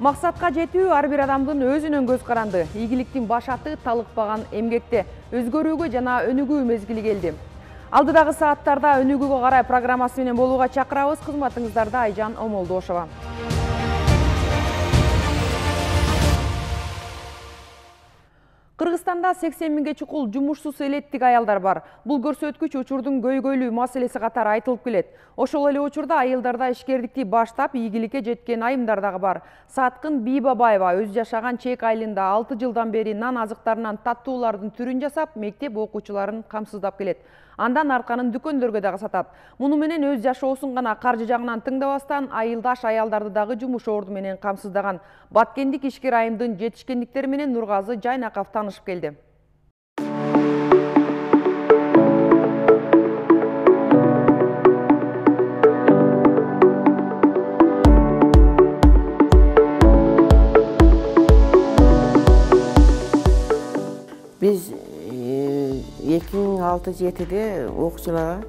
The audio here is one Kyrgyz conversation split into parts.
Максатка жетүү ар бир адамдын өзүнөн көз каранды. Ийгиликтин башаты талыкпаган эмгекте өзгөрүүгө жана өнүгүү мезгили келди. Алдыдагы сааттарда өнүгүүгө карай программасы менен болууга чакырабыз. Кызматыңыздарда Айжан Омолдошова. Кыргызстанда 80 миңге чукул жумушсуз элеттик аялдар бар. Бул көрсөткүч учурдун көйгөйлүү маселеси катары айтылып келет. Ошол эле учурда айылдарда ишкердикти баштап ийгиликке жеткен айымдар дагы бар. Саткын Бийбабаева өзү жашаган Чек айылында 6 жылдан бери нан азыктарынан таттуулардын түрүн жасап, мектеп окуучуларын камсыздап келет. Андан арканын дүкөндөргө дагы сатат. Муну менен өз жашоосун гана каржы жагынан тыңдабастан, айылдаш аялдарды дагы жумуш орду менен камсыздаган. Баткендик ишкер айымдын жетишкендиктери менен Нургазы Жайнаков танышып келди. Biz 2006-2007'de okçulara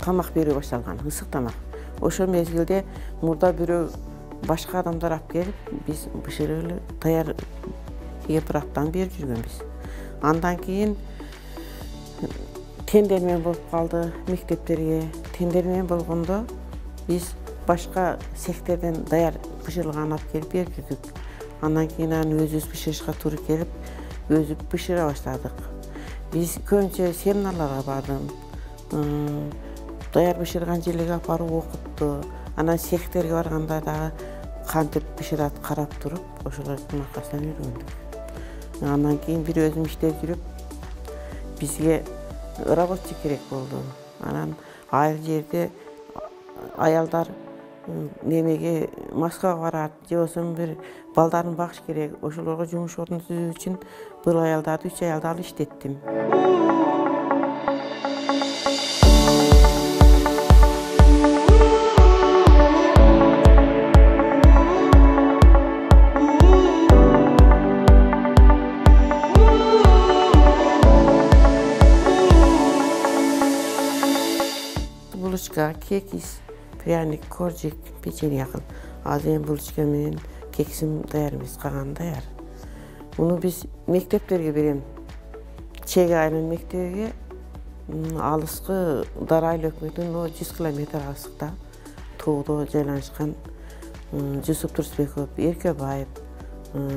tamak берүү башталган, ысык тамак. Ошол мезгилде мурда бирөө башка адамдар алып келип, биз бышырылы даяр кемпираптан берип жүргөнбүз. Андан кийин тендермен болуп калды мектептерге. Тендермен болгондо биз башка цехтерден даяр бышырылган алып келип берип жүрдүк. Андан кийин аны өзүбүз бышырышка туура келип, өзү бышыра баштадык. Биз көбүнчө семиналарга бардым. Даяр бышырган жерлерге алып барып окутту. Анан цехтерге барганда дагы кантип бышырат карап туруп, ошолордун аркасынан үйрөндүк. Андан кийин бир өзүм иштеп жүрүп, бизге работчу керек болду. Анан айыл жерде аялдар немеге Москвага барат, же болбосо бир балдарын багыш керек. Ошолорго жумуш ордун түзүү үчүн бул аялдарды 3 аялды алып иштеттим. Булочка, кекис, пряник, коржик, печенье кыл. Азыр эми булочка менен кексим даяр эмес, калганы даяр. Муну биз мектептерге берем. Чек айылынын мектебиге алыскы Дара айыл өкмөтүнүн 100 километр алыстыкта тоодо жайланышкан Жусуп Турсбеков, Эркебаев,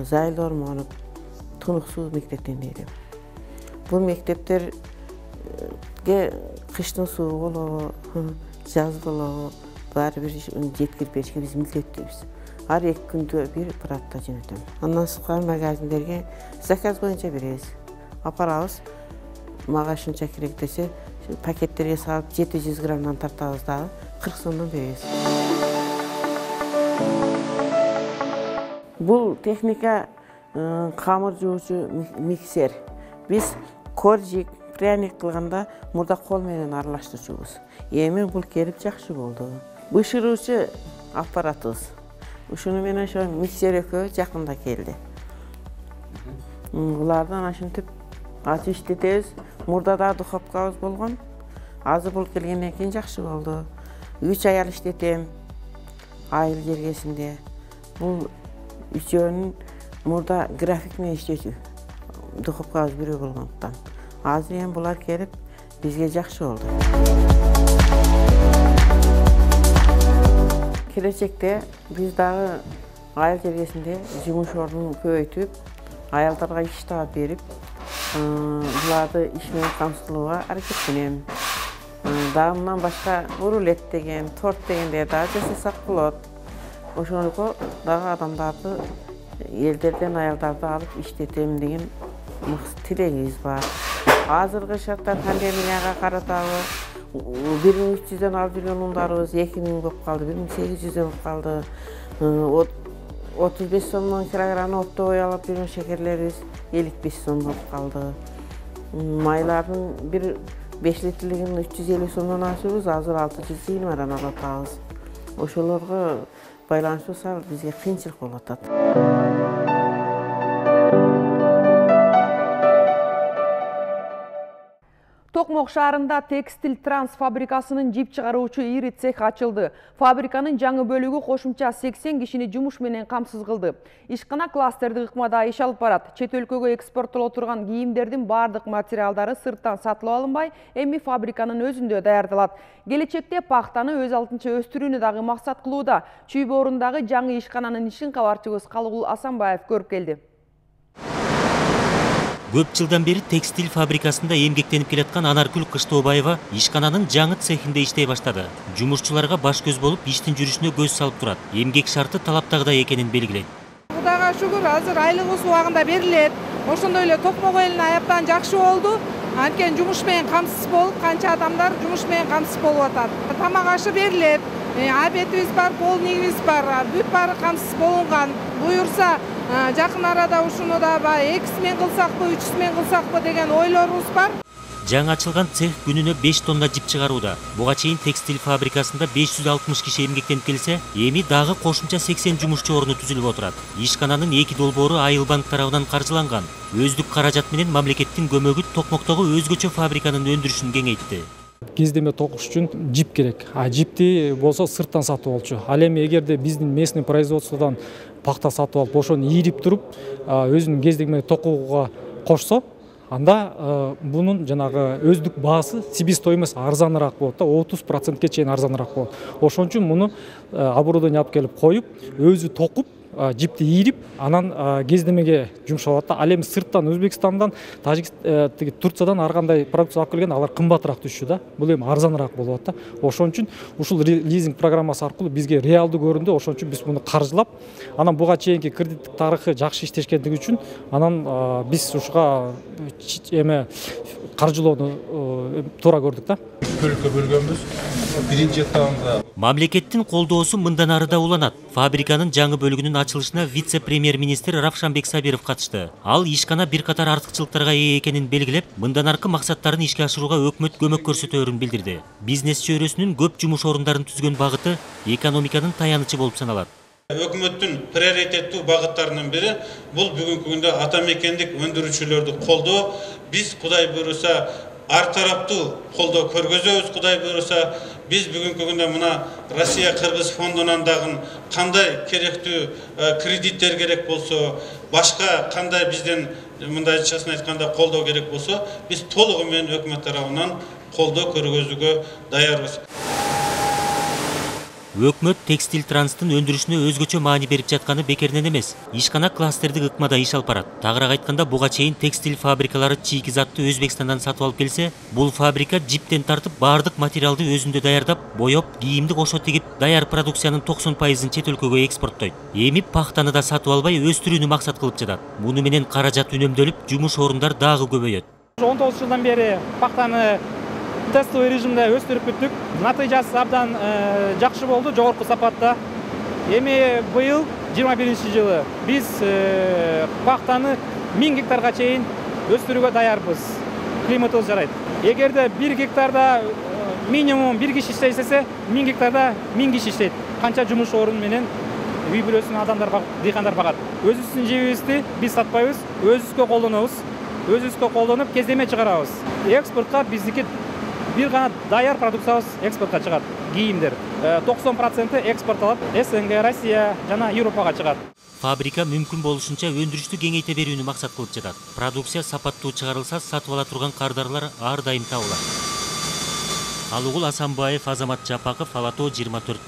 Зайыл Ормонов, Тунуксуу мектептен берем. Бул мектептерге кыштын суу болобу, жаз болобу, баары бир жеткирип беришке биз милдеттүүбүз. Ар 2 күндө бир аппаратта жөнөтөм. Андан сырткары магазиндерге заказ боюнча беребиз. Апарабыз, мага ушунча керек десе, пакеттерге салып 700 граммдан тартабыз дагы 40 сомдон беребиз. Бул техника камыр жуучу миксер. Биз коржик, пряник кылганда мурда кол менен аралаштырчубуз. Эми бул келип жакшы болду. Бышыруучу аппаратыбыз. Ушуну менен ошо миксер экөө жакында келди. Булардан ошентип ачып иштетебиз. Мурда да духовкабыз болгон. Азыр бул келгенден кийин жакшы болду. 3 аял иштетем айыл жергесинде. Бул үчөөнүн мурда график менен иштечү. Духовкабыз бирөө болгондуктан. Азыр эми булар келип бизге жакшы болду. Келечекте биз дагы айыл жергесинде жумуш ордун көбөйтүп, аялдарга иш таап берип, буларды иш менен камсыздоого аракеттенем. Дагы мындан башка рулет деген, торт дегендер дагы жасасак болот. Ошоnuko дагы адамдарды, элдерден аялдарды алып иштетем деген тилегибиз бар. Азыркы шарттар пандемияга каратабы 1300дөн алып жүргөн ундарыбыз 2000 болуп калды, 1800дөн болуп калды. 35 сомдон килограмм оптовый алып жүргөн шекерлерибиз 55 сом болуп калды. Майлардын бир 5 литрлигин 350 сомдон алчубуз, азыр 620дан алып атабыз. Ошолорго байланыштуу бизге кыйынчылык болуп атат. Токмок шаарында текстиль транс фабрикасынын жип чыгаруучу ири цех ачылды. Фабриканын жаңы бөлүгү кошумча 80 кишини жумуш менен камсыз кылды. Ишкана кластердик ыкмада иш алып барат. Чет өлкөгө экспорттоло турган кийимдердин бардык материалдары сырттан сатылып алынбай, эми фабриканын өзүндө даярдалат. Келечекте пахтаны өз алтынча өстүрүүнү дагы максат кылууда. Чүй боорундагы жаңы ишкананын ишин кабарчыбыз Калыгул Асанбаев көрүп келди. Көп жылдан бери текстиль фабрикасында эмгектенип келаткан Анаркүл Кыштообаева ишкананын жаңы цехинде иштей баштады. Жумушчуларга баш көз болуп, иштин жүрүшүнө көз салып турат. Эмгек шарты талаптагыдай экенин белгилейт. Кудайга шүгүр, азыр айлыгыбыз убагында берилет. Ошондой эле Токмок элинин аяктан жакшы болду. Анткени жумуш менен камсыз болуп, канча адамдар жумуш менен камсыз болуп атат. Тамак ашы берилет. Обедибиз бар, полднигибиз бар. Бүт баары камсыз болунган. Буюрса, жакын арада ушуну да 2 смен кылсакпы, 3 смен кылсакпы деген ойлорубуз бар. Жаңы ачылган цех күнүнө 5 тонна жип чыгарууда. Буга чейин текстиль фабрикасында 560 киши эмгектенип келсе, эми дагы кошумча 80 жумушчу орну түзүлүп отурат. Ишкананын 2 долбоору Айыл банк тарабынан каржыланган. Өздүк каражат менен мамлекеттин көмөгү Токмоктогу өзгөчө фабриканын өндүрүшүн кеңейтти. Кездеме токуш үчүн жип керек. Жипти болсо сырттан сатып алчу. Ал эми эгерде биздин местный производстводон пахта сатып алып, ошону ийрип туруп, өзүнүн кездеме токууга кошсо, анда бунун жанагы өздүк баасы себестоимость арзаныраак болот да, 30%ке чейин арзаныраак болот. Ошон үчүн муну оборудование алып келип коюп, өзү токуп, жипти ийрип, анан кездемеге жумшалат да. Ал эми сырттан Өзбекстандан, Турциядан ар кандай продукция алып келген, алар кымбатыраак түшчү да. Бул эми арзаныраак болот да. Ошон үчүн ушул лизинг программасы аркылуу бизге реалдуу көрүндү. Ошон үчүн биз муну каржылап, анан буга чейинки кредиттик тарыхы жакшы иштешкендиги үчүн, анан биз ушуга эме каржылоону туура көрдүк да. Бөлүккө бөлгөнбүз. Биринчи этабында Мамлекеттин колдоосу мындан ары да уланат. Фабриканын жаңы бөлүгүнүн ачылышына вице-премьер-министр Равшанбек Сабиров катышты. Ал ишкана бир катар артыкчылыктарга ээ экенин белгилеп, мындан аркы максаттарын ишке ашырууга өкмөт көмөк көрсөтөөрүн билдирди. Бизнес чөйрөсүнүн көп жумуш орундарын түзгөн багыты экономиканын таянычы болуп саналат. Өкмөттүн приоритеттүү багыттарынын бири бул бүгүнкү күндө ата мекендик өндүрүүчүлөрдү колдоо. Биз Кудай буйруса ар тараптуу колдоо көргөзөбүз. Кудай буйруса биз бүгүнкү күндө мына Россия Кыргыз фондунан дагы кандай керектүү кредиттер керек болсо, башка кандай бизден мындайчасын айтканда колдоо керек болсо, биз толугу менен өкмөт тарабынан колдоо көргөзүүгө даярбыз. Өкмөт текстиль транстын өндүрүшүнө өзгөчө маани берип жатканы бекеринен эмес. Ишкана кластердик ыкмада иш алып барат. Тагыраак айтканда, буга чейин текстиль фабрикалары чийки затты Өзбекстандан сатып алып келсе, бул фабрика жиптен тартып бардык материалды өзүндө даярдап, боёп, кийимди кошо тигип, даяр продукциянын 90%-ын чет өлкөгө экспорттойт. Эми пахтаны да сатып албай, өстүрүүнү максат кылып жатат. Муну менен каражат үнөмдөлүп, жумуш орундар дагы көбөйөт. 19 жылдан бери пахтаны тестовый режимде өстүрүп бүттүк. Натыйжасы абдан жакшы болду, жогорку сапатта. Эми быйыл 21-жылы биз пахтаны 1000 гектарга чейин өстүрүүгө даярбыз. Климатыбыз жарайт. Эгерде 1 гектарда минимум 1 киши иштесе, 1000 гектарда 1000 киши иштейт. Канча жумуш орун менен үй бүлөсүн адамдар, дыйкандар багат. Өзүбүздүн жебибизди биз сатпайбыз, өзүбүзгө колдонобуз. Өзүбүзгө колдонуп кездеме чыгарабыз. Экспортко биздики бир гана даяр продукциябыз экспортко чыгат. Кийимдер 90% экспортталат. СНГ, Россия жана Европага чыгат. Фабрика мүмкүн болушунча өндүрүштү кеңейте берүүнү максат кылып жатат. Продукция сапаттуу чыгарылса, сатып ала турган кардарлар ар дайым табылат. Калыгул Асанбаев, Азамат Жапаков, Алато 24.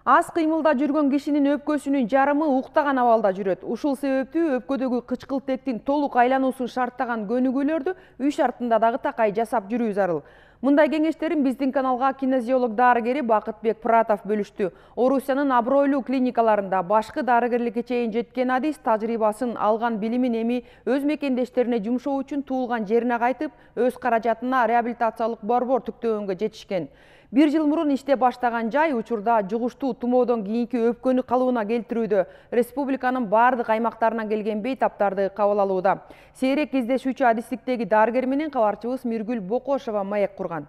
Аз кыймылда жүргөн кишинин өпкөсүнүн жарымы уктаган абалда жүрөт. Ушул себептүү өпкөдөгү кычкылтектин толук айлануусун шарттаган көнүгүүлөрдү үй шартында дагы такай жасап жүрүү зарыл. Мындай кеңештерин биздин каналга кинезиолог дарыгери Бакытбек Пратов бөлүштү. Орусиянын абройлуу клиникаларында башкы дарыгерликке чейин жеткен адис тажрыйбасын алган билимин эми өз мекендештерине жумшоо үчүн туулган жерине кайтып, өз каражатына реабилитациялык борбор түктөгөнгө жетишкен. 1 жыл мурун иштеп баштаган жай учурда жугуштуу тумоодон кийинки өпкөнү калыбына келтирүүдө республиканын бардык аймактарынан келген бейтаптарды кабыл алууда. Сейрек кездешүүчү адистиктеги дарыгер менен кабарчыбыз Миргүл Бокошова маек курган.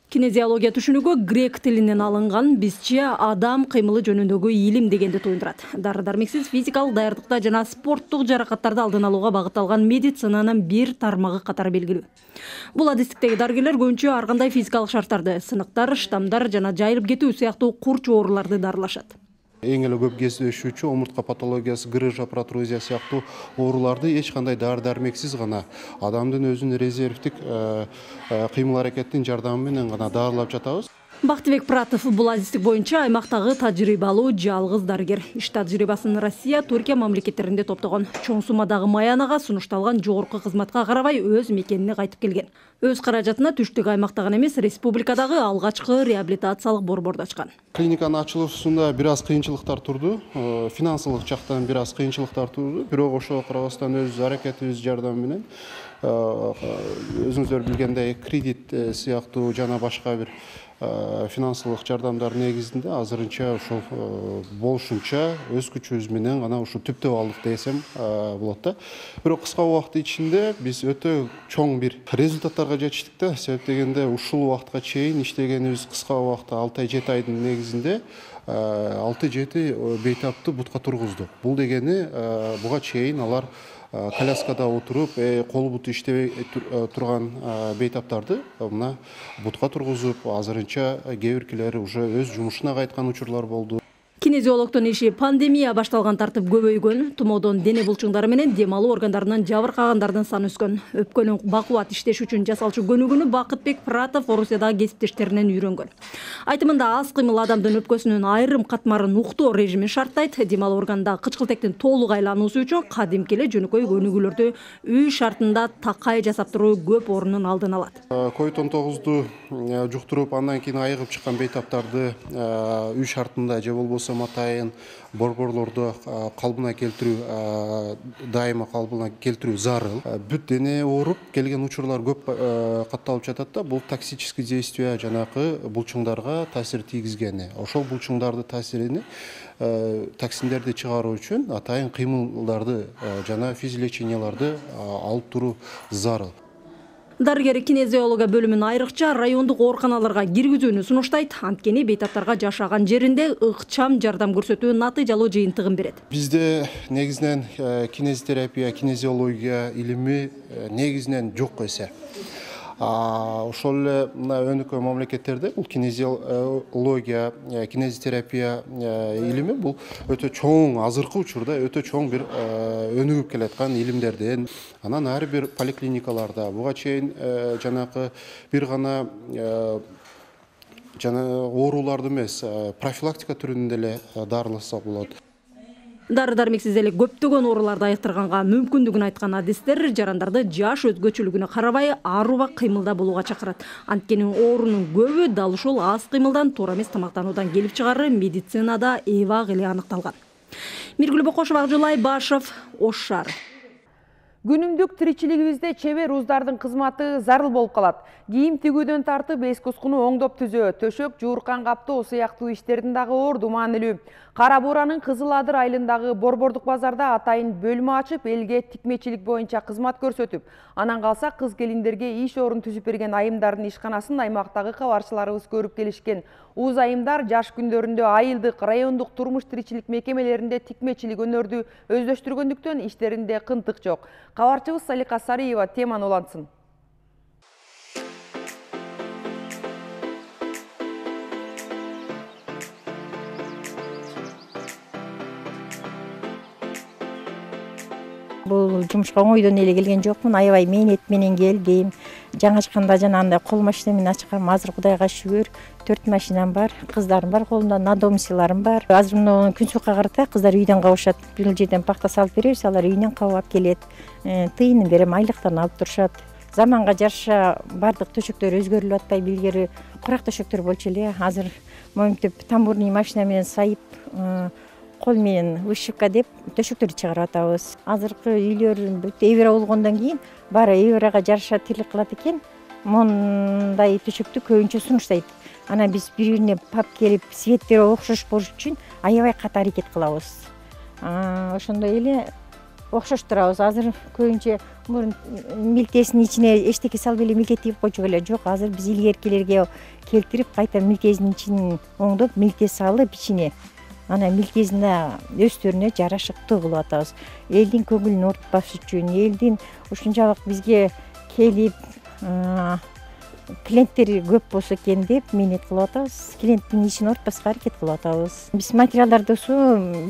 Кинезиология түшүнүгү грек тилинен алынган, бизче адам кыймылы жөнүндөгү илим дегенди туюндурат. Дары-дармексиз физикалык даярдыкта жана спорттук жаракаттарды алдын алууга багытталган медицинанын бир тармагы катары белгилүү. Бул адистиктеги дарыгерлер көбүнчө ар кандай физикалык шарттарды, сыныктар, штамдар жана жайылып кетүү сыяктуу курч ооруларды дарылашат. Эң эле көп кездешүүчү омуртка патологиясы, грыжа, протрузия сыяктуу ооруларды эч кандай дары-дармексиз гана адамдын өзүнүн резервдик кыймыл аракеттин жардамы менен гана дарылап жатабыз. Бактыбек Пратов бул адистик боюнча аймактагы тажрыйбалуу жалгыз дарыгер. Иш тажрыйбасын Россия, Түркия мамлекеттеринде топтогон. Чоң суммадагы маянага сунушталган жогорку кызматка карабай өз мекенине кайтып келген. Өз каражатына түштүк аймакта гана эмес, республикадагы алгачкы реабилитациялык борборду ачкан. Клиниканын ачылышында бир аз кыйынчылыктар турду, финансылык жактан бир аз кыйынчылыктар турду. Бирок ошого карабастан өз аракетибиз жардамы менен өзүңүздөр билгендей кредит сыяктуу жана башка бир финансылык жардамдар негизинде азырынча ошол болушунча өз күчүбүз менен гана ушу түптөп алдык десем болот да. Бирок кыска убакыт ичинде биз өтө чоң бир результаттарга жетиштик да. Себеп дегенде ушул убакытка чейин иштегенибиз кыска убакытта 6-7 айдын негизинде 6-7 бейтапты бутка тургуздук. Бул дегени буга чейин алар коляскада отуруп, кол буту иштебей турган бейтаптарды мына бутка тургузуп, азырынча кээ биркилери уже өз жумушуна кайткан учурлар болду. Кинезиологдун иши пандемия башталган тартып көбөйгөн, тумоодон дене булчуңдары менен дем алуу органдарынан жабыркагандардын саны өскөн. Өпкөнүн бакубат иштеш үчүн жасалчу көнүгүүнү Бакытбек Пратов Орусиядагы кесиптештеринен үйрөнгөн. Айтымында аз кыймыл адамдын өпкөсүнүн айрым катмарын уктоо режимин шарттайт. Дем алуу органдагы кычкылтектин толук айлануусу үчүн кадимки эле жөнөкөй көнүгүүлөрдү үй шартында такай жасап туруу көп орунун алдын алат. COVID-19 жуктуруп, андан кийин айыгып чыккан бейтаптарды үй шартында же болбосо атайын борборлорду калыбына келтирүү, дайыма калыбына келтирүү зарыл. Бүт дене ооруп келген учурлар көп катталып жатат да. Бул токсический действие жанакы булчуңдарга таасир тийгизгени. Ошол булчуңдарды таасирини токсиндерди чыгаруу үчүн атайын кыймылдарды жана физлеченияларды алып туруу зарыл. Дарыгер кинезиология бөлүмүн айрыкча райондук ооруканаларга киргизүүнү сунуштайт. Анткени бейтаптарга жашаган жеринде ыкчам жардам көрсөтүү натыйжалуу жыйынтыгын берет. Бизде негизинен кинезитерапия, кинезиология илими негизинен жок эсе. Ошол эле мына өнүккөн мамлекеттерде бул кинезиология, кинезитерапия илими бул өтө чоң, азыркы учурда өтө чоң бир өнүгүп келаткан илимдерден. Анан ар бир поликлиникаларда буга чейин жанакы бир гана ооруларды эмес, профилактика түрүндө эле дарыласа болот. Дары-дармексиз эле көптөгөн ооруларды айыктырганга мүмкүндүгүн айткан адистер жарандарды жаш өзгөчөлүгүнө карабай ар убак кыймылда болууга чакырат. Анткени оорунун көбү дал ушул аз кыймылдан, туура эмес тамактануудан келип чыгаары медицинада эбак эле аныкталган. Миргүл Бокошова, Акжулай Башов, Ош шаары. Күнүмдүк тиричилигибизде чебер уздардын кызматы зарыл болуп калат. Кийим тигүүдөн тартып эс кускуну оңдоп түзөө, төшөк жууркан каптоо сыяктуу иштердин дагы орду маанилүү. Кара Буранын Кызыл Адыр айылындагы борбордук базарда атайын бөлмө ачып, элге тикмечилик боюнча кызмат көрсөтүп, анан калса кыз келиндерге иш орун түзүп берген айымдардын ишканасын аймактагы кабарчыларыбыз көрүп келишкен. Уз айымдар жаш күндөрүндө айылдык, райондук турмуш тиричилик мекемелеринде тикмечилик өнөрдү өздөштүргөндүктөн иштеринде кынтык жок. Кабарчыбыз Салика Сариева теманы улантсын. Бул жумушка оңойдон эле келген жокмун. Аябай мээнет менен келдим. Жаңы ачканда жана андай кол машинаммен ачкам. Азыр Кудайга шүгүр 4 машинам бар, кыздарым бар, колумда надомсиларым бар. Азыр мына күн суукка карата кыздар үйдөн кабышат. Бир жерден пахта салып беребиз, алар үйүнөн кабап келет. Тыйынын берем, айлыктарын алып турушат. Заманга жараша бардык төшөктөр өзгөрүлүп атпайбы, илгери курак төшөктөр болчу эле. Азыр моментип тамбурный машина менен сайып, кол менен вышивка деп төшөктөрдү чыгарып атабыз. Азыркы үйлөр эвера болгондон кийин баары эверага жараша тирлик кылат экен. Мондай төшөктү көбүнчө сунуштайт. Анан биз бири-бирине пап келип, светтери окшош болуш үчүн аябай каты аракет кылабыз. Ошондой эле окшоштурабыз. Азыр көбүнчө мурун милтесинин ичине эчтеке салып эле милтетип койчук эле. Жок, азыр биз илгеркилерге келтирип кайта милтесинин ичин оңдоп, милтес салып ичине анан милтесине өстөрүнө жарашыктуу кылып атабыз. Элдин көңүлүн оорутпаш үчүн, элдин ушунчалык бизге келип клиенттер көп болсо экен деп минет кылып атабыз. Клиенттин ишин оорутпаска аракет кылып атабыз. Биз материалдарды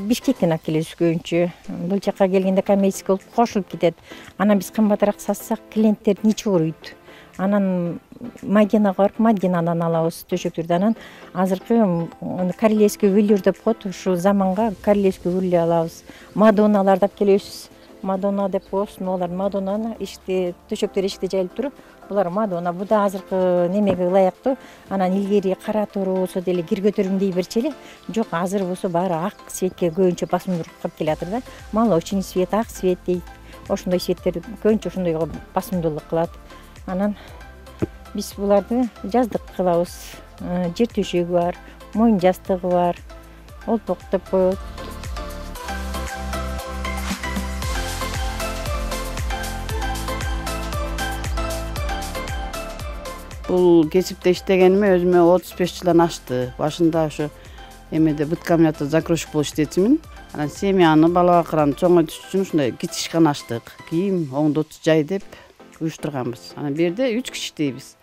Бишкектен алып келебиз көбүнчө. Бул жака келгенде коммерческий болуп кошулуп кетет. Анан биз кымбатыраак сатсак, клиенттердин ичи ооруйт. Анан Мадинага барып, Мадинадан алабыз төшөктөрдү. Анан азыркы королевский велюр деп коет, ушу заманга королевский велюр алабыз. Мадоналарды алып келебиз. Мадона деп коебуз. Алар Мадонаны төшөктөр эшикте жайылып туруп, булар Мадона. Бу да азыркы немеге ылайыктуу. Анан илгери кара тору болсо деле кир көтөрүмдөй берчү эле. Жок, азыр болсо баары ак цветке көбүнчө басымдуулук кылып келатыр да. Молочный цвет, ак цвет дейт. Ошондой цветтер көбүнчө ошондойго басымдуулук кылат. Анан биз буларды жаздык кылабыз. Жер төшөгү бар, моюн жастыгы бар, олпок деп коет. Бул кесипте иштегениме өзүмө 35 жылдан ашты. Башында ошо эмеде быт комбинатта закройщик болуп иштечимин. Анан семьяны, бала бакыраны чоңойтуш үчүн ушундай кичи ишкана ачтык. Кийим оңдот жай деп уюштурганбыз. Анан бу жерде 3 киши иштейбиз.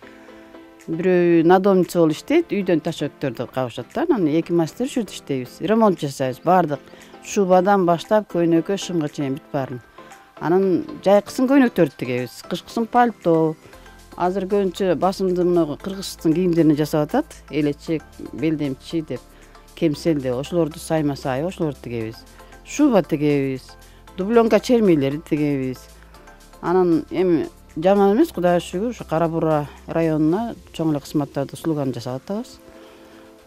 Бирөө надомница болуп иштейт, үйдөн ташөттөрдү кабышат да. Анан 2 мастер ушул жерде иштейбиз. Ремонт жасайбыз, баардык шубадан баштап көйнөккө, шымга чейин бүт баарын. Анан жайкысын көйнөктөрдү тигебиз, кышкысын пальто. Азыр көбүнчө басымды мына кыргыздын кийимдерин жасап атат. Элечек, белдемчи деп, кемсел деп, ошолорду сайма-сай ошолорду тигебиз. Шуба тигебиз, дубленка чермелери тигебиз. Анан эми жаман эмес, Кудайга шүгүр, ушу Кара Бура районуна чоң эле кызматтарды услуганы жасап атабыз.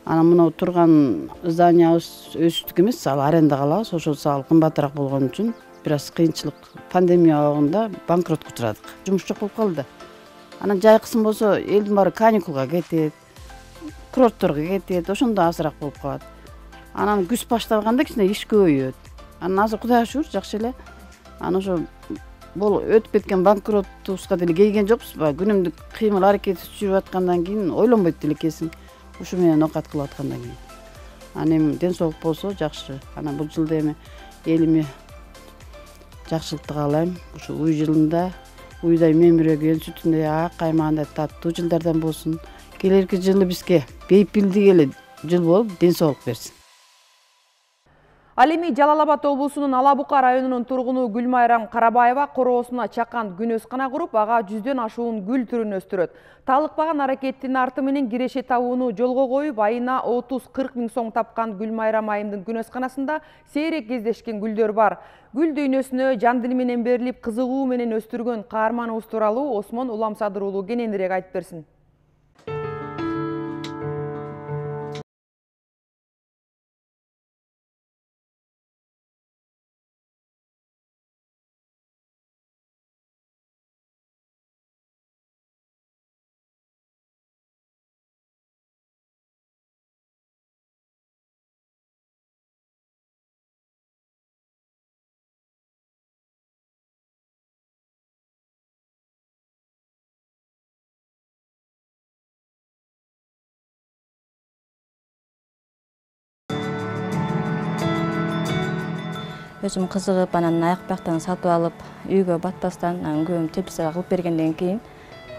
Анан мына турган зданиябыз өзүбүздүкү эмес, ал арендага алабыз. Ошол сал кымбатыраак болгон үчүн бир аз кыйынчылык, пандемия убагында банкротко учурадык. Жумуш жок болуп калды. Анан жайкысын болсо элдин баары каникулга кетет, курортторго кетет, ошондо азыраак болуп калат. Анан күз башталганда кичине иш көбөйөт. Анан азыр Кудайга шүгүр жакшы эле. Анан ошо бул өтүп кеткен банкроттубузга деле кейген жокпузбу? Күнүмдүк кыймыл аракет жүрүп аткандан кийин ойлонбойт деле экенсиң. Ушу менен окат кылып аткандан кийин. Анан эми ден соолук болсо жакшы. Анан бул жылда эми элиме жакшылыкты каалайм. Ушу уй жылында уйдай мемиреген, сүтүндөй ак, каймагандай таттуу жылдардан болсун. Келерки жылы бизге бейпилдик эле жыл болуп, ден соолук берсин. Ал эми Жалал Абад облусунун Ала Бука районунун тургуну Гүлмайрам Карабаева короосуна чакан күнөскана куруп, ага 100дөн ашуун гүл түрүн өстүрөт. Талыкпаган аракеттин арты менен киреше табууну жолго коюп, айына 30-40 миң сом тапкан Гүлмайрам айымдын күнөсканасында сейрек кездешкен гүлдөр бар. Гүл дүйнөсүнө жан дили менен берилип, кызыгуу менен өстүргөн каарманыбыз тууралуу Осмон Уламсадыр уулу кененирээк айтып берсин. Өзүм кызыгып, анан аяк бияктан сатып алып, үйгө батпастан, анан көбүм теплицага кылып бергенден кийин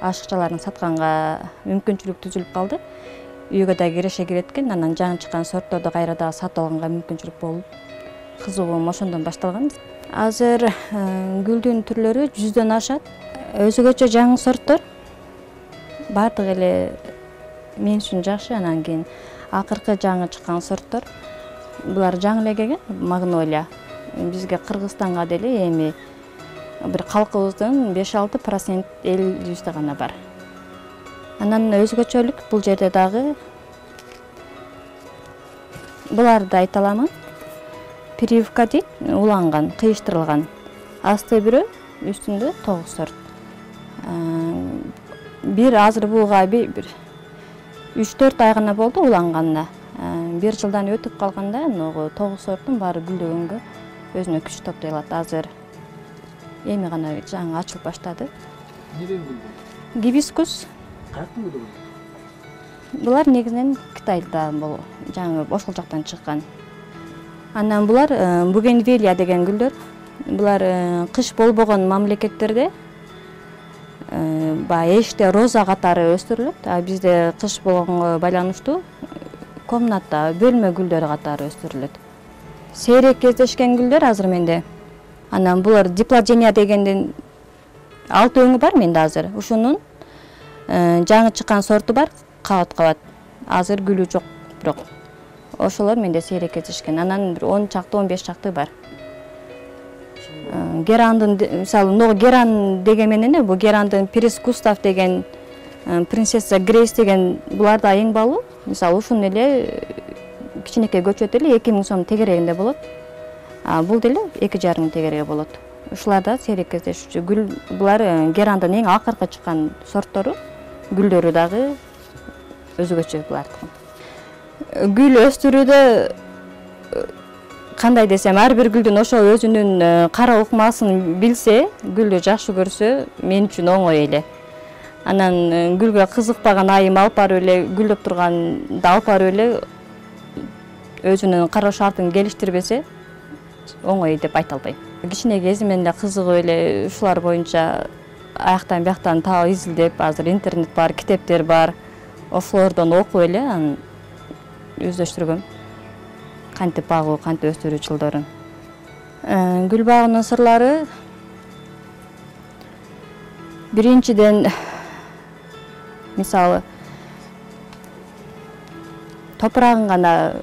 ашыкчаларын сатканга мүмкүнчүлүк түзүлүп калды. Үйгө да киреше кирет экен, анан жаңы чыккан сортторду кайра да сатып алганга мүмкүнчүлүк болуп, кызыгуум ошондон башталган. Азыр гүлдүн түрлөрү 100дөн ашат. Өзгөчө жаңы сорттор баардык эле мен үчүн жакшы. Анан кийин акыркы жаңы чыккан сорттор, булар жаңы эле келген, магнолия. Бизге Кыргызстанга деле эми бир калкыбыздын 5-6% эл жүздө гана бар. Анан өзгөчөлүк бул жерде дагы буларды айта аламын. Прививка дейт, уланган, кыйыштырылган. Асты бирөө, үстүндө 9 сорт. Бир азыр буга бир 3-4 ай гана болду уланганына. Бир жылдан өтүп калганда, 9 сорттун баары гүлдөгөнгө өзүнө күч топтой алат. Азыр эми гана жаңы ачылып баштады. Неден гүлдөр? Гибискус. Каяктын гүлү? Булар негизинен Кытайдан жаңы ошол жактан чыккан. Анан булар бугенвилия деген гүлдөр. Булар кыш болбогон мамлекеттерде баягы эшикте роза катары өстүрүлөт. А бизде кыш болгонго байланыштуу комната, бөлмө гүлдөрү катары өстүрүлөт. Сейрек кездешкен гүлдөр азыр менде. Анан булар диплодения дегенден 6 өңү бар менде азыр. Ушунун жаңы чыккан сорту бар, кабат. Азыр гүлү жок бирок. Ошолор менде сейрек кездешкен. Анан бир 10 чакты, 15 чакты бар. Герандын, мисалы, мына геран деген менен бу герандын Принц Густав деген, принцесса Грейс деген булар да эң баалуу. Мисалы, ушун эле кичинекей көчөт эле 2000 сом тегерегинде болот. А бул деле 2,5 мың тегереге болот. Ушулар да сейрек кездешүүчү гүл. Булар герандын эң акыркы чыккан сорттору. Гүлдөрү дагы өзгөчө булардыкы. Гүл өстүрүүдө кандай десем, ар бир гүлдүн ошол өзүнүн кара ыкмасын билсе, гүлдү жакшы көрсө, мен үчүн оңой эле. Анан гүлгө кызыкпаган айым алып барып эле, гүлдөп турганда алып барып эле өзүнүн кароо шартын келиштирбесе, оңой деп айта албайм. Кичине кезимден эле кызыгып эле ушулар боюнча аяктан бияктан таап изилдеп, азыр интернет бар, китептер бар. Ошолордон окуп эле анан өздөштүргөм. Кантип багуу, кантип өстүрүү жолдорун. Гүл багынын сырлары биринчиден, мисалы, топурагын гана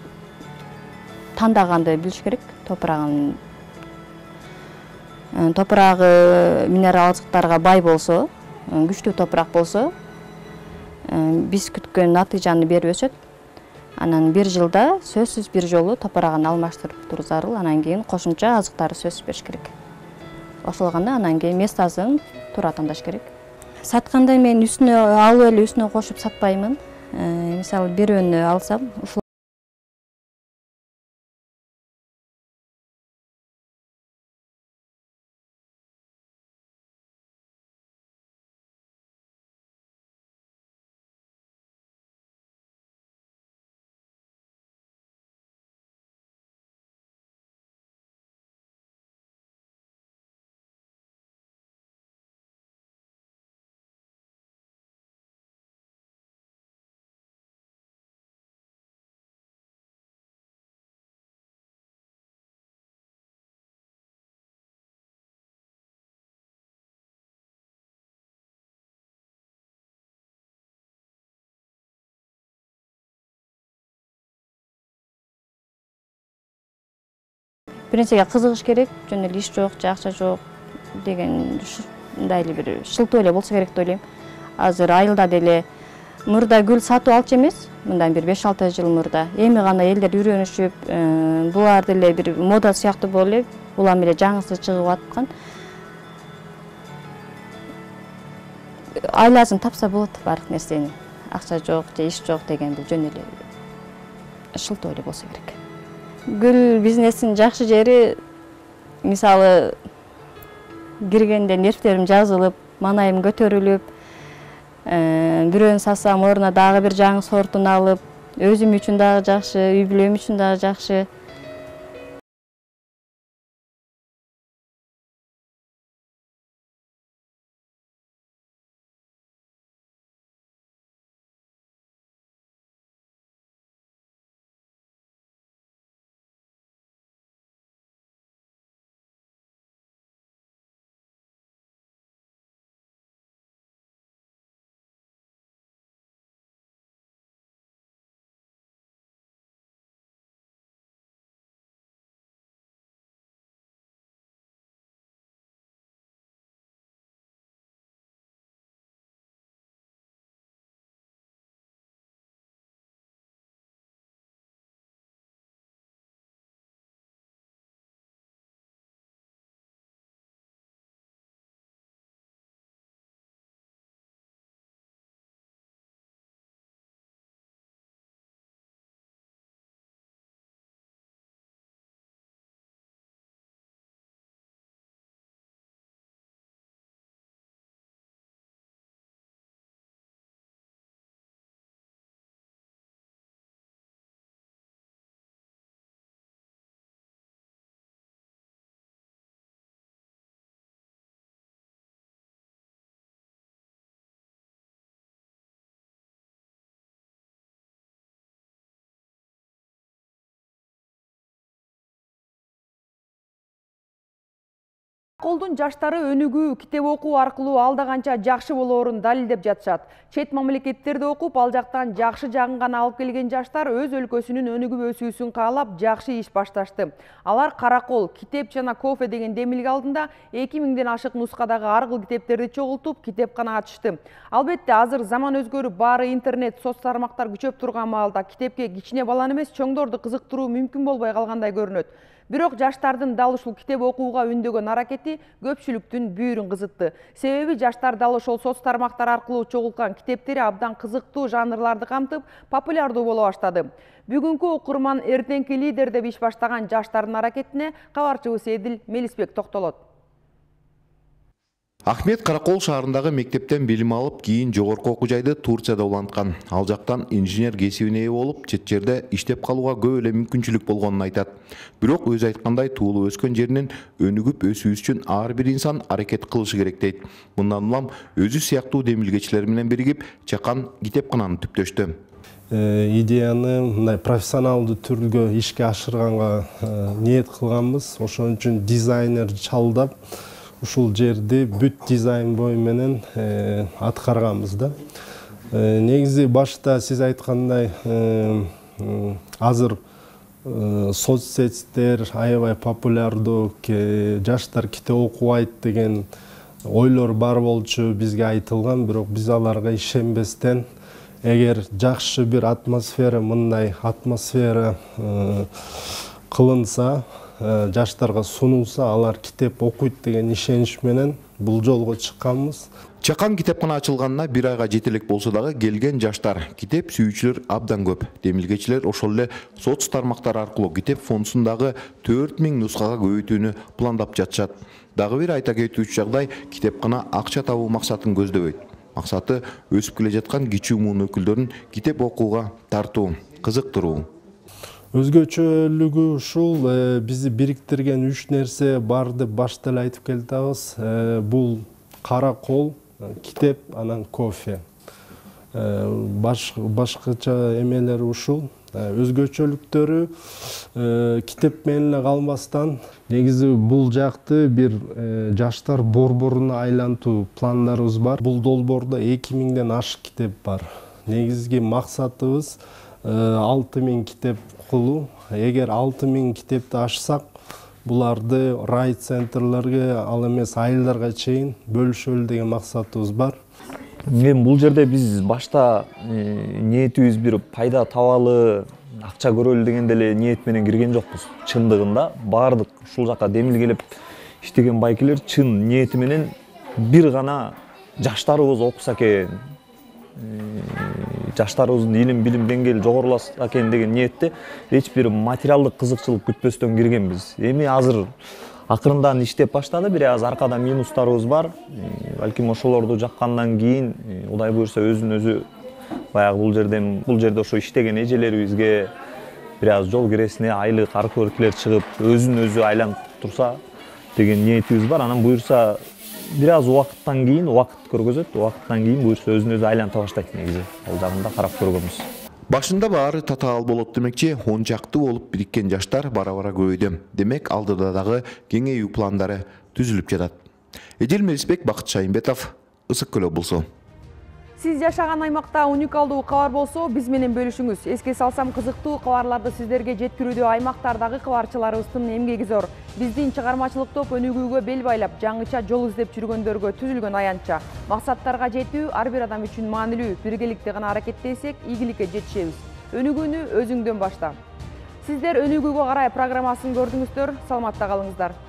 тандаганды билиш керек. Топурагы минерал азыктарга бай болсо, күчтүү топурак болсо, биз күткөн натыйжаны берип өсөт. Анан бир жылда сөзсүз бир жолу топурагын алмаштырып туруу зарыл. Анан кийин кошумча азыктары сөзсүз бериш керек. Ошол гана анан кийин местасын туура тандаш керек. Сатканда мен үстүнө алып эле үстүнө кошуп сатпаймын. Мисалы, бирөөнү алсам, бир нерсеге кызыгыш керек, жөн эле иш жок, акча жок деген ушундай эле бир шылтоо эле болсо керек деп ойлойм. Азыр айылда деле мурда гүл сатып алчу эмес, мындан бир 5-6 жыл мурда. Эми гана элдер үйрөнүшүп, булар деле бир мода сыяктуу болуп эле, улам эле жаңысы чыгып аткан. Айласын тапса болот бардык нерсени. Акча жок же иш жок дегенде жөн эле шылтоо эле болсо керек. Гүл бизнесинин жакшы жери, мисалы, киргенде нервтерим жазылып, манайым көтөрүлүп, бирөөнү сатсам ордуна дагы бир жаңы сортун алып, өзүм үчүн дагы жакшы, үй бүлөм үчүн дагы жакшы. Караколдун жаштары өнүгүү, китеп окуу аркылуу алда канча жакшы болоорун далилдеп жатышат. Чет мамлекеттерде окуп, ал жактан жакшы жагын гана алып келген жаштар өз өлкөсүнүн өнүгүп өсүүсүн каалап жакшы иш башташты. Алар Каракол, китеп жана кофе деген демилге алдында 2000ден ашык нускадагы ар кыл китептерди чогултуп, китепкана ачышты. Албетте, азыр заман өзгөрүп, баары интернет, соц тармактар күчөп турган маалда китепке кичине баланы эмес, чоңдорду кызыктыруу мүмкүн болбой калгандай көрүнөт. Бирок жаштардын дал ушул китеп окууга үндөгөн аракети көпчүлүктүн бүйүрүн кызытты. Себеби жаштар дал ошол соц тармактар аркылуу чогулткан китептери абдан кызыктуу жанрларды камтып, популярдуу боло баштады. Бүгүнкү окурман эртеңки лидер деп иш баштаган жаштардын аракетине кабарчыбыз Эдил Мелисбек токтолот. Ахмет Каракол шаарындагы мектептен билим алып, кийин жогорку окуу жайды Турцияда уланткан. Ал жактан инженер кесибине ээ болуп, чет жерде иштеп калууга көп эле мүмкүнчүлүк болгонун айтат. Бирок өзү айткандай, туулуп өскөн жеринен өнүгүп өсүү үчүн ар бир инсан аракет кылышы керек дейт. Мындан улам өзү сыяктуу демилгечилер менен биригип, чакан китепкананы түптөштү. Идеяны мындай профессионалдуу түргө ишке ашырганга ниет кылганбыз. Ошон үчүн дизайнер чалдап, ушул жерди бүт дизайн бою менен аткарганбыз да. Негизи башта сиз айткандай азыр соцсеттер аябай популярдуу, жаштар китеп окубайт деген ойлор бар болчу, бизге айтылган, бирок биз аларга ишенбестен, эгер жакшы бир атмосфера, мындай атмосфера кылынса, жаштарга сунулса, алар китеп окуйт деген ишенич менен бул жолго чыкканбыз. Чакан китепкана ачылганына 1 айга жетелек болсо дагы келген жаштар, китеп сүйүүчүлөр абдан көп. Демилгечилер ошол эле соц тармактар аркылуу китеп фондусундагы 4000 нускага көбөйтүүнү пландап жатышат. Дагы бир айта кетүүчү жагдай, китепкана акча табуу максатын көздөбөйт. Максаты өсүп келе жаткан кичүү муун өкүлдөрүн китеп окууга тартуу, кызыктыруу. Өзгөчөлүгү ушул, бизди бириктирген 3 нерсе бар деп башта эле айтып келатабыз. Бул Каракол, китеп, анан кофе. Башкача эмелери ушул. Өзгөчөлүктөрү китеп менен эле калбастан, негизи бул жакты бир жаштар борборуна айлантуу пландарыбыз бар. Бул долбоордо 2000ден ашык китеп бар. Негизги максатыбыз 6000 китеп кылуу. Эгер 6000 китепти ашсак, буларды райцентрлерге, ал эмес айылдарга чейин бөлүшөлү деген максатыбыз бар. Эми бул жерде биз башта ниетибиз бир пайда табалы, акча көрөлү деген деле ниет менен кирген жокпуз. Чындыгында баардык ушул жака демилгелеп иштеген байкелер чын ниети менен бир гана жаштарыбыз окуса экен, жаштарыбыздын илим билим деңгээли жогоруласа экен деген ниетте эч бир материалдык кызыкчылык күтпөстөн киргенбиз. Эми азыр акырындан иштеп баштады, бир аз аркада минустарыбыз бар. Балким ошолорду жаккандан кийин Кудай буйрса өзүн өзү баягы бул жерде ошо иштеген эжелерибизге бир аз жол киресине айлык аркылыклер чыгып, өзүн өзү айланып турса деген ниетибиз бар. Анан буйрса бир аз убакыттан кийин, убакыт көргөзөт, убакыттан кийин буйрса өзүн өзү айланта баштайт негизи. Ал жагында карап көргөнбүз. Башында баары татаал болот демекчи, 10 чакты болуп бириккен жаштар бара-бара көбөйдү. Демек, алдыда дагы кеңейүү пландары түзүлүп жатат. Эдил Мелисбек, Бакыт Шайымбетов, Ысык Көл облусу. Сиз жашаган аймакта уникалдуу кабар болсо, биз менен бөлүшүңүз. Эске салсам, кызыктуу кабарларды сиздерге жеткирүүдө аймактардагы кабарчыларыбыздын эмгеги зор. Биздин чыгармачылык топ өнүгүүгө бел байлап, жаңыча жол издеп жүргөндөргө түзүлгөн аянтча. Максаттарга жетүү ар бир адам үчүн маанилүү. Биргеликте гана аракеттенсек, ийгиликке жетишебиз. Өнүгүүнү өзүңдөн башта. Сиздер өнүгүүгө карай программасын көрдүңүздөр. Саламатта калыңыздар.